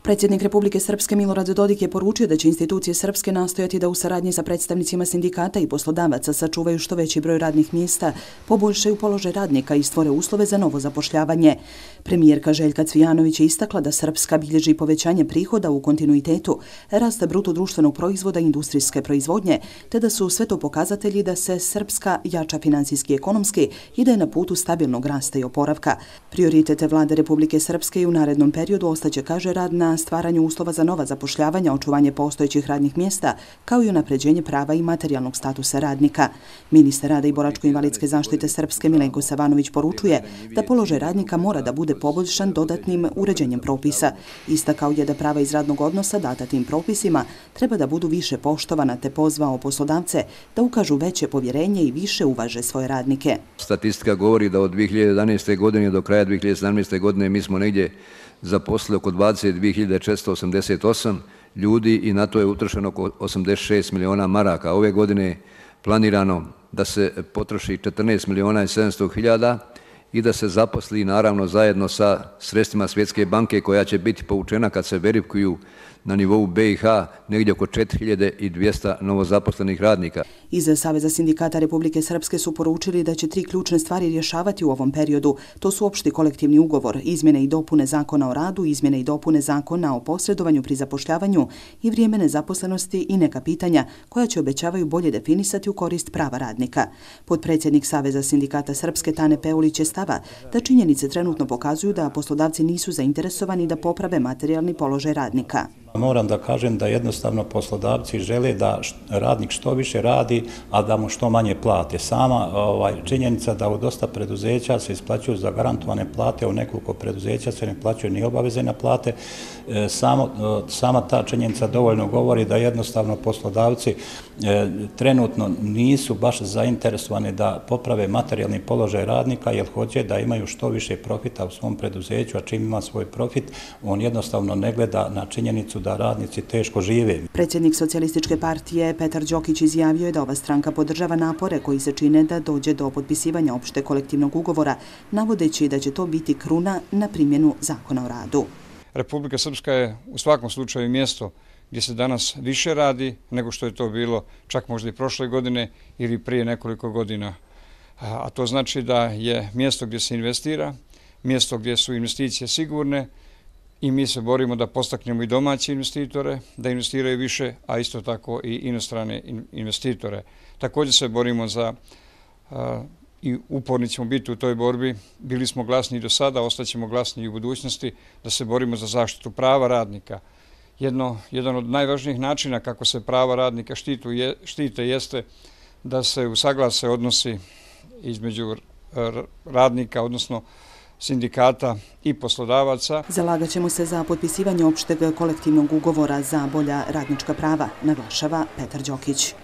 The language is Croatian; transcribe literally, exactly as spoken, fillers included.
Predsjednik Republike Srpske Milorad Dodik je poručio da će institucije Srpske nastojati da u saradnji sa predstavnicima sindikata i poslodavaca sačuvaju što veći broj radnih mjesta, poboljšaju položaj radnika i stvore uslove za novo zapošljavanje. Premijerka Željka Cvijanović je istakla da Srpska bilježi povećanje prihoda u kontinuitetu, rasta bruto društvenog proizvoda i industrijske proizvodnje, te da su sve to pokazatelji da se Srpska jača financijski i ekonomski i da je na putu stabilnog rasta i oporavka. Prioritete vlade Republike Srpske i u narednom periodu ostaće, kaže, rad na stvaranju uslova za nova zapošljavanja, očuvanje postojećih radnih mjesta, kao i unapređenje prava i materijalnog statusa radnika. Ministar rada i boračko-invalidske zaštite Srpske Milenko Savanović poručuje da položaj radnika mora da bude poboljšan dodatnim uređenjem propisa. Istakao je da prava iz radnog odnosa data tim propisima treba da budu više poštovana, te pozvao poslodavce da ukažu veće povjerenje i više uvaže svoje radnike. Statistika govori da od dvije hiljade jedanaeste. godine do kraja dvije hiljade sedamnaeste. godine mi smo negdje zaposlili oko dvadeset dvije hiljade četiristo osamdeset osam ljudi i na to je utrošeno oko osamdeset šest miliona maraka. Ove godine je planirano da se potroši četrnaest miliona i sedamsto hiljada i da se zaposli naravno zajedno sa sredstvima Svjetske banke koja će biti povučena kad se verifikuju na nivou B i H negdje oko četiri hiljade dvjesto novozaposlenih radnika. Iz Saveza sindikata Republike Srpske su poručili da će tri ključne stvari rješavati u ovom periodu. To su opšti kolektivni ugovor, izmjene i dopune zakona o radu, izmjene i dopune zakona o posredovanju pri zapošljavanju i vrijeme nezaposlenosti i neka pitanja koja će obećavaju bolje definisati u korist prava radnika. Potpredsjednik Saveza sindikata Srpske Tane Peulić je stava da činjenice trenutno pokazuju da poslodavci nisu zainteresovani da poprave materijalni položaj radnika. Moram da kažem da jednostavno poslodavci žele da radnik što više radi, a da mu što manje plate. Sama ovaj, činjenica da u dosta preduzeća se isplaćuju za garantovane plate, u nekoliko preduzeća se ne plaćaju ni obaveze na plate. E, samo, sama ta činjenica dovoljno govori da jednostavno poslodavci e, trenutno nisu baš zainteresovani da poprave materijalni položaj radnika, jer hoće da imaju što više profita u svom preduzeću, a čim ima svoj profit, on jednostavno ne gleda na činjenicu da radnici teško žive. Predsjednik Socijalističke partije Petar Đokić izjavio je da ova stranka podržava napore koji se čine da dođe do potpisivanja opšte kolektivnog ugovora, navodeći da će to biti kruna na primjenu zakona o radu. Republika Srpska je u svakom slučaju mjesto gdje se danas više radi nego što je to bilo čak možda i prošle godine ili prije nekoliko godina. A to znači da je mjesto gdje se investira, mjesto gdje su investicije sigurne, i mi se borimo da postaknemo i domaće investitore, da investiraju više, a isto tako i inostrane investitore. Također se borimo za, a, i uporni ćemo biti u toj borbi, bili smo glasni i do sada, ostaćemo glasni i u budućnosti, da se borimo za zaštitu prava radnika. Jedno, jedan od najvažnijih načina kako se prava radnika štitu, je, štite jeste da se usaglase odnosi između radnika, odnosno sindikata i poslodavaca. Zalagat ćemo se za potpisivanje opšteg kolektivnog ugovora za bolja radnička prava, naglašava Petar Đokić.